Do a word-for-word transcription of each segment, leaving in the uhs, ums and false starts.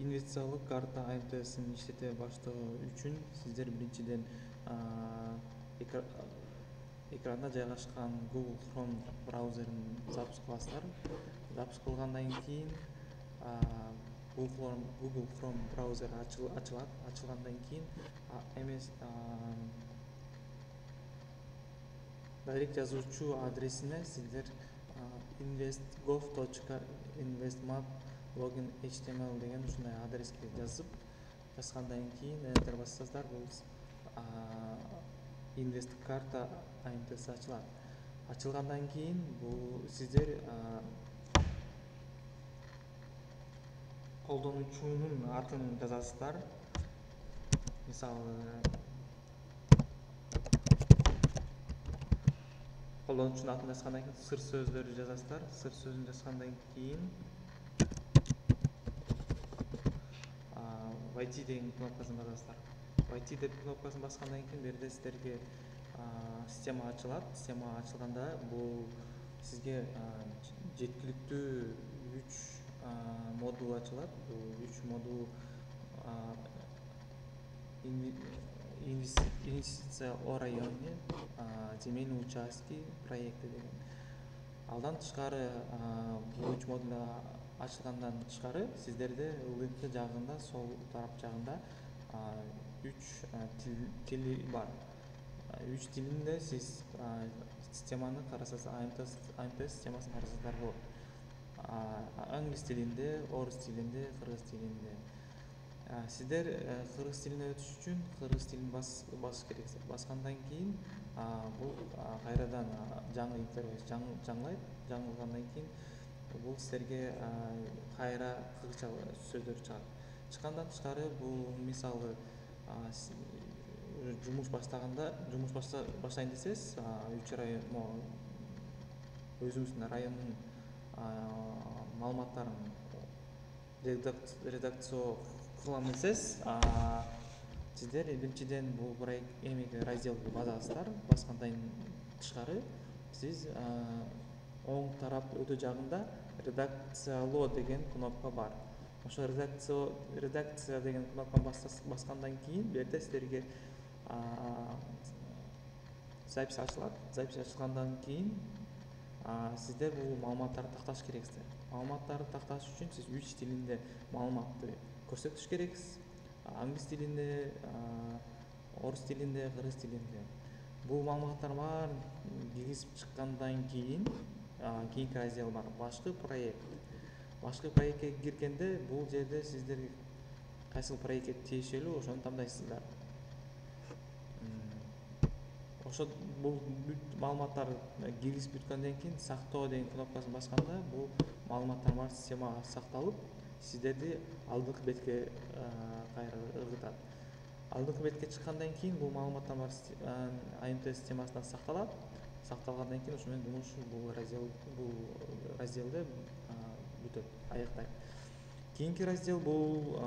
инвестициялык карта А М Т Син иштете баштоо үчүн сиздер биринчиден экранда жайгашкан Google Chrome браузерин запуск кыласыздар. Запуск кылгандан кийин Google Chrome браузер ачылат. Ачылгандан кийин эмес дайрект жазуучу адресине сиздер investgov точка investmap login эйч ти эм эл деген ушундай адреске жазып, жазгандан кийин Enter бассаңыздар, бул инвест карта А М Т С ачылат. Ачылгандан кийин бул сиздер колдонуучунун атын жазасыздар. Мисалы, колдонуучунун атын жазгандан кийин сыр сөздөрү жазасыздар. Сыр сөзүн жазгандан кийин войти деген кнопкасын басасыздар. Войти деп кнопкасын баскандан кийин бул жерде сиздерге система ачылат. Система ачылганда бул сизге жеткиликтүү үч модул ачылат. Бул үч модул инвестиция о районе, земельный участки, проекты деген. Алдан тышкары бул үч модул ачылгандан тышкары сиздерде ылдыңкы жагында, сол тарап жагында үч тили бар. Үч тилинде сиз системаны карасаңыз, А М Т системасын карасаңыздар болот. Англис тилинде, орус тилинде, кыргыз тилинде. Сиздер кыргыз тилине өтүш үчүн кыргыз тилин басыш керексиз. Баскандан кийин бул кайрадан жаңы интерфейс жаңылайт. Жаңылгандан кийин бул сиздерге кайра кыргызча сөздөр чыгат. Чыккандан тышкары бул мисалы жумуш баштаганда, жумуш баштайын десеңиз, үч район өзүңүздүн райондун маалыматтарын редакция кылам десеңиз, сиздер биринчиден бул эмеге разделге басасыздар. Баскандан тышкары сиз оң тарап өтө жагында редакциялоо деген кнопка бар. Ошо редакция деген кнопканы баскандан кийин бул жерде сиздерге запись ачылат. Запись ачылгандан кийин сиздер бул маалыматтарды такташ керексиздер. Маалыматтарды такташ үчүн сиз үч тилинде маалыматты көрсөтүш керексиз. Англис тилинде, орус тилинде, кыргыз тилинде. Бул маалыматтар баарын киргизип чыккандан кийин кийинки раздел бар. Башкы проект. Башкы проектке киргенде бул жерде сиздер кайсыл проектке тиешелүү ошону тандайсыздар. Ошо бул маалыматтарды киргизип бүткөндөн кийин сактоо деген кнопкасын басканда бул маалыматтар бар системага сакталып, сиздерди алдыңкы бетке кайра ыргытат. Алдыңкы бетке чыккандан кийин бул маалыматтар бар А М Т системасында сакталат. Сакталгандан кийин ошо менен жумуш бул раздел бул разделде бүтөт, аяктайт. Кийинки раздел бул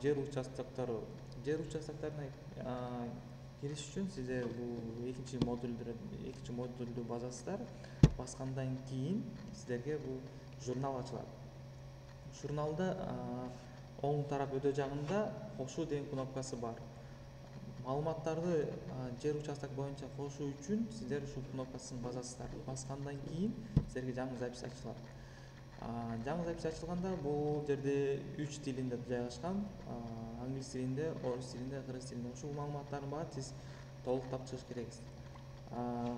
жер участоктору. Жер участокторуна кириш үчүн сиздер бул экинчи модулду экинчи модулду басасыздар. Баскандан кийин сиздерге бул журнал ачылат. Журналда оң тарап өтө жагында кошуу деген кнопкасы бар. Маалыматтарды жер участок боюнча кошуу үчүн сиздер ушул кнопкасын басасыздар. Баскандан кийин сиздерге жаңы запись ачылат. Жаңы запись ачылганда бул жерде үч тилинде жайгашкан. Англис тилинде, орус тилинде, кыргыз тилинде. Ушул маалыматтардын баарын сиз толуктап чыгыш керексиз.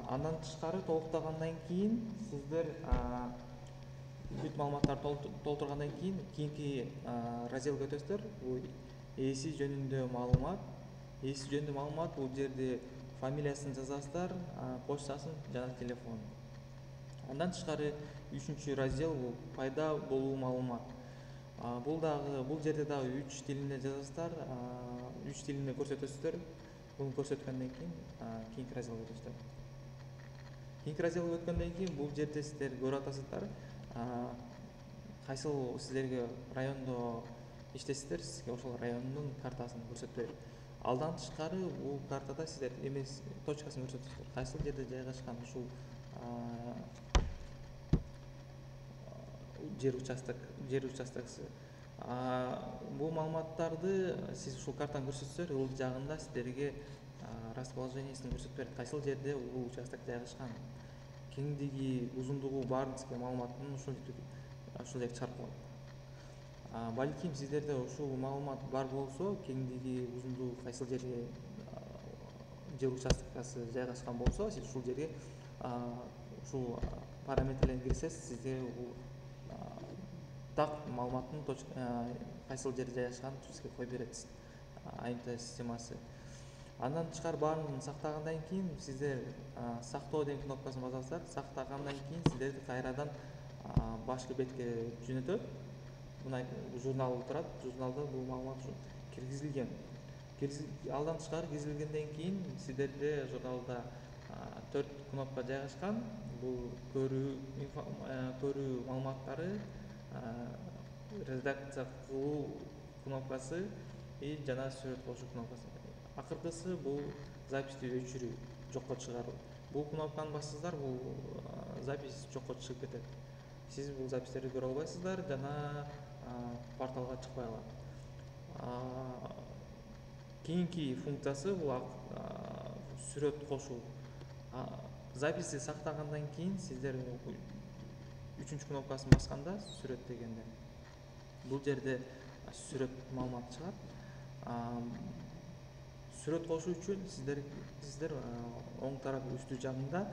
Андан тышкары толуктагандан кийин сиздер бүт маалыматтарды толтургандан кийин кийинки разделге өтөсүздөр. Бул ээси жөнүндө маалымат. Ээси жөнүндө маалымат бул жерде фамилиясын жазасыздар, почтасын жана телефонун. Андан тышкары үчүнчү раздел бул пайда болуу маалымат. Бул дагы бул жерде дагы үч тилинде жазасыздар, үч тилинде көрсөтөсүздөр. Буну көрсөткөндөн кийин кийинки разделге өтөсүздөр. Кийинки разделге өткөндөн кийин бул жерде сиздер көрүп атасыздар, кайсыл сиздерге райондо иштесиздер, сизге ошол райондун картасын көрсөтөт. Алдан тышкары бул картада сиздер эмес точкасын көрсөтөсүздөр. Кайсыл жерде жайгашкан ушул жер участок жер участоксу. А, бул маалыматтарды сиз ушул картаны көрсөтсөңөр, ыл жагында сиздерге а, расположениесин көрсөтүп берет, кайсыл жерде бул участок жайгашкан, кеңдиги, узундугу баарын сизге маалыматын ушул ушул жерге чыгарып коет. Балким сиздерде ушул маалымат бар болсо, кеңдиги, узундугу кайсыл жерге жер участкасы жайгашкан болсо, сиз ушул жерге ушул параметрлерин кирсеңиз, сизге бул так маалыматтын кайсыл жерде жайгашканын сизге коюп берет АМТ системасы. Андан тышкары баарын сактагандан кийин сиздер сактоо деген кнопкасын басасыздар. Сактагандан кийин сиздерди кайрадан башкы бетке жөнөтөт. Мына журнал турат, журналда бул маалымат киргизилген. Алдан тышкары киргизилгенден кийин сиздерде журналда төрт кнопка жайгашкан. Бул көрүү, көрүү маалыматтары, редакция кылуу кнопкасы жана сүрөт кошуу кнопкасы. Акыркысы бул записти өчүрүү, жокко чыгаруу. Бул кнопканы бассаңыздар, бул запись жокко чыгып кетет. Сиз бул запистерди көрө албайсыздар жана порталга чыкпай калат. Кийинки функциясы бул сүрөт кошуу. Записти сактагандан кийин сиздер үчүнчү кнопкасын басканда, сүрөт дегенде, бул жерде сүрөт маалыматы чыгат. Сүрөт кошуу үчүн сиздер сиздер оң тарап үстү жагында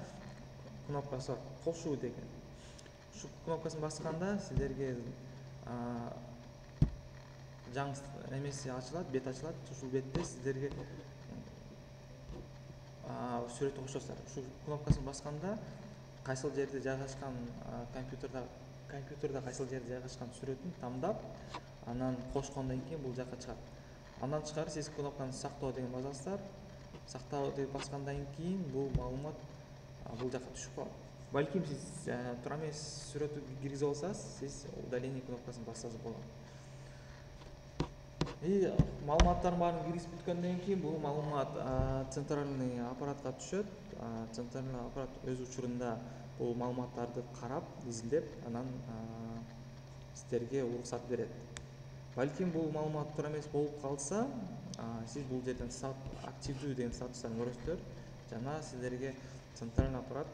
кнопкасы бар, кошуу деген. Ушул кнопкасын басканда сиздерге жаңы эмеси ачылат, бет ачылат. Ушул бетте сиздерге сүрөт кошосуздар. Ушул кнопкасын басканда кайсыл жерде жайгашкан, компьютерда компьютерда кайсыл жерде жайгашкан сүрөтүн тандап, анан кошкондон кийин бул жакка чыгат. Андан тышкары сиз кнопканы сактоо деген басасыздар. Сактоо деп баскандан кийин бул маалымат бул жакка түшүп калат. Балким сиз туура эмес сүрөттү киргизип алсаңыз, сиз удаление кнопкасын бассаңыз болот. И маалыматтардын баарын киргизип бүткөндөн кийин бул маалымат центральный аппаратка түшөт. Центральный аппарат өз учурунда бул маалыматтарды карап, изилдеп, анан сиздерге уруксат берет. Балким бул маалымат туура эмес болуп калса, сиз бул жерден активдүү деген статустан көрөсүздөр жана сиздерге центральный аппарат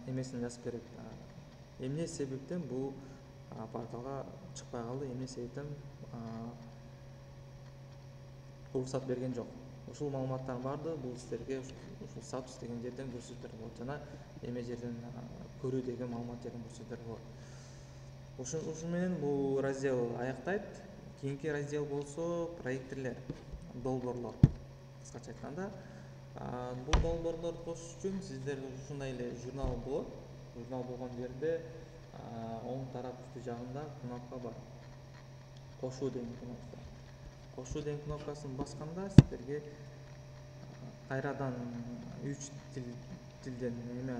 эмесин жазып берет. Эмне себептен бул порталга чыкпай калды, эмне себептен уруксат берген жок. Ушул маалыматтардын баардыгы бул сиздерге ушул статус деген жерден көрсөтүлөр болот жана эме жерден көрүү деген маалымат жерден көрсөтүлөр болот. Ушун менен бул раздел аяктайт. Кийинки раздел болсо проектилер, долбоорлор. Кыскача айтканда, бул долбоорлорду кошуш үчүн сиздер ушундай эле журнал болот. Журнал болгон жерде оң тарап үстү жагында кнопка бар. Кошуу деген кнопка. Кошуу деген кнопкасын басканда сиздерге кайрадан үч тилден эме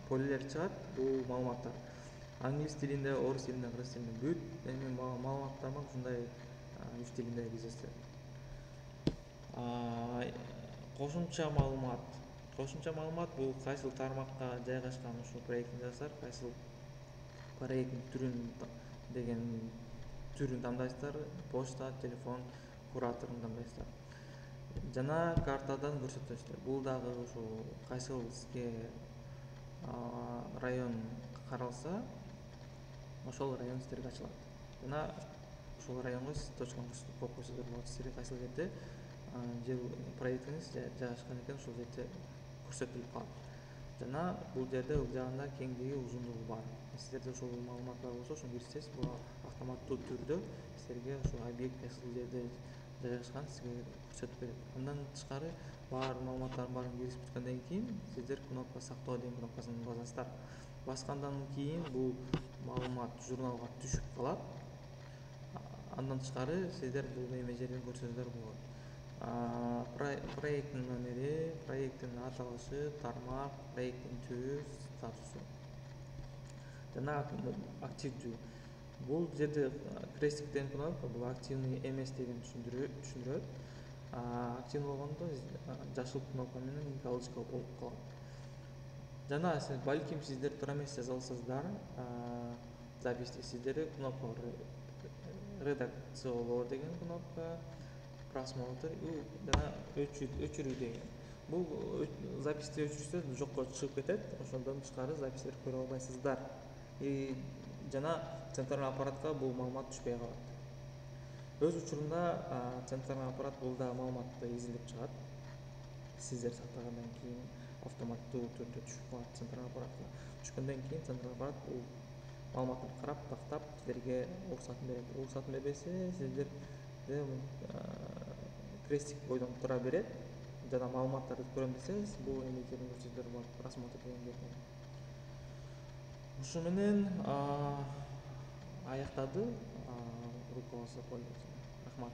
полелер чыгат. Бул маалыматтар англис тилинде, орус тилинде, кыргыз тилинде бүт эми маалыматтар бар, ушундай үч тилинде киргизесиздер. Кошумча маалымат. Кошумча маалымат бул кайсыл тармакка жайгашкан ушул проектин жазасыздар, кайсыл проекттин түрүн деген түрүн тандайсыздар, почта, телефон, кураторун тандайсыздар. Жана картадан көрсөтөсүздөр. Бул дагы ушул кайсыл сизге район каралса, ошол район сиздерге ачылат. Жана ушул районго сиз точканы коюп койсоңуздар болот. Сиздерге кайсыл жерде жер проектиңиз жайгашкан экен, ушул жерде көрсөтүлүп калат. Жана бул жерде ыл жагында кеңдиги, узундугу бар. Сиздерде ушул маалымат бар болсо, ошону кирсеңиз, бул автоматтуу түрдө сиздерге ошол объект кайсыл жерде жайгашкан сизге көрсөтүп берет. Андан тышкары баар маалыматтардын баарын киргизип бүткөндөн кийин сиздер кнопка сактоо деген кнопкасын басасыздар. Баскандан кийин бул маалымат журналга түшүп калат. Андан тышкары сиздер бул эме жерден көрсөңүздөр болот. Проекттин номери, проекттин аталышы, тармак, проекттин түрү, статусу жана активдүү. Бул жерде крестик деген кнопка, бул активный эмес деген түшүндүрөт. Активный болгондо жашыл кнопка менен галочка болуп калат. Жана балким сиздер туура эмес жаза алсаңыздар, записти сиздерге кнопка редакциялоо деген кнопка, просмотр жана өчүрүү деген. Бул записти өчүрсө жокко чыгып кетет, ошондон тышкары запистерди көрө албайсыздар. И жана централдык аппаратка бул маалымат түшпөй калат. Өз учурунда централдык аппарат бул да маалыматты изилдеп чыгат. Сиздер сактагандан кийин автоматтуу түрдө түшүп калат централдык аппаратка. Түшкөндөн кийин централдык аппарат бул маалыматтарды карап, тактап, силерге уруксатын берет. Уруксатын бербесе, сиздерде крестик бойдон тура берет. Жана маалыматтарды көрөм десеңиз, бул эмнеге көрсөтүлөр бар, просмотр деген берген. Ушу менен аяктады. Руководство пользователя. Рахмат.